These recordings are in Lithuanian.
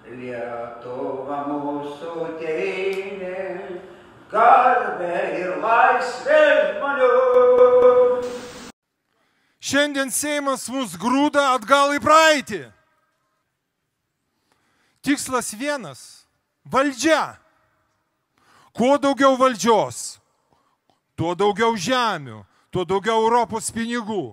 Lietuva mūsų tėvynė, garbė ir laisvė žmonių. Šiandien Seimas mus grūda atgal į praeitį. Tikslas vienas – valdžia. Kuo daugiau valdžios, tuo daugiau žemių, tuo daugiau Europos pinigų.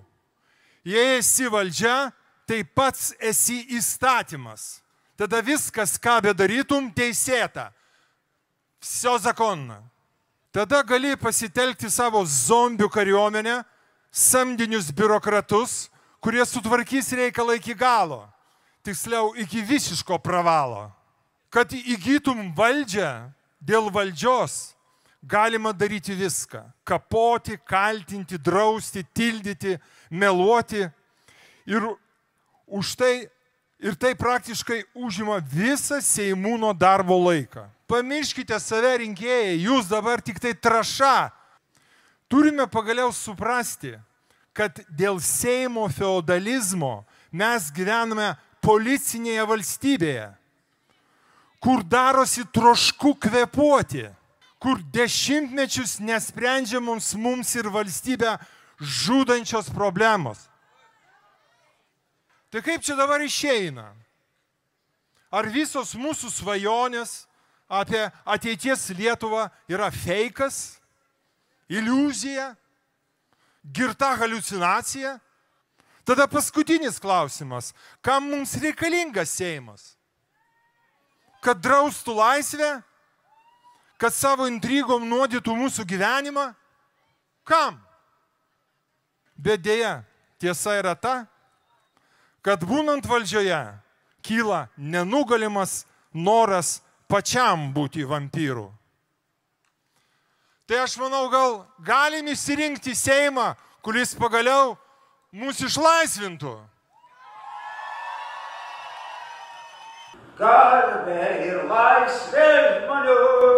Jei esi valdžia, tai pats esi įstatymas. Tada viskas, ką bedarytum, teisėta. Все законно. Tada gali pasitelkti savo zombių kariuomenę, samdinius biurokratus, kurie sutvarkys reikalą iki galo. Tiksliau, iki visiško pravalo. Kad įgytum valdžią dėl valdžios, galima daryti viską. Kapoti, kaltinti, drausti, tildyti, meluoti. Ir tai praktiškai užima visą Seimūno darbo laiką. Pamirškite save, rinkėjai, jūs dabar tik tai trąša. Turime pagaliau suprasti, kad dėl Seimo feodalizmo mes gyvename policinėje valstybėje, kur darosi trošku kvėpuoti, kur dešimtmečius nesprendžiamoms mums ir valstybę žudančios problemos. Tai kaip čia dabar išeina? Ar visos mūsų svajonės apie ateities Lietuvą yra feikas, iliuzija, girta haliucinacija? Tada paskutinis klausimas. Kam mums reikalingas Seimas? Kad draustų laisvę? Kad savo intrigom nuodytų mūsų gyvenimą? Kam? Bet dėja, tiesa yra ta, kad būnant valdžioje kyla nenugalimas noras pačiam būti vampyru. Tai aš manau, gal galim išsirinkti Seimą, kuris pagaliau mūsų išlaisvintų. Garbė ir laisvė žmonių.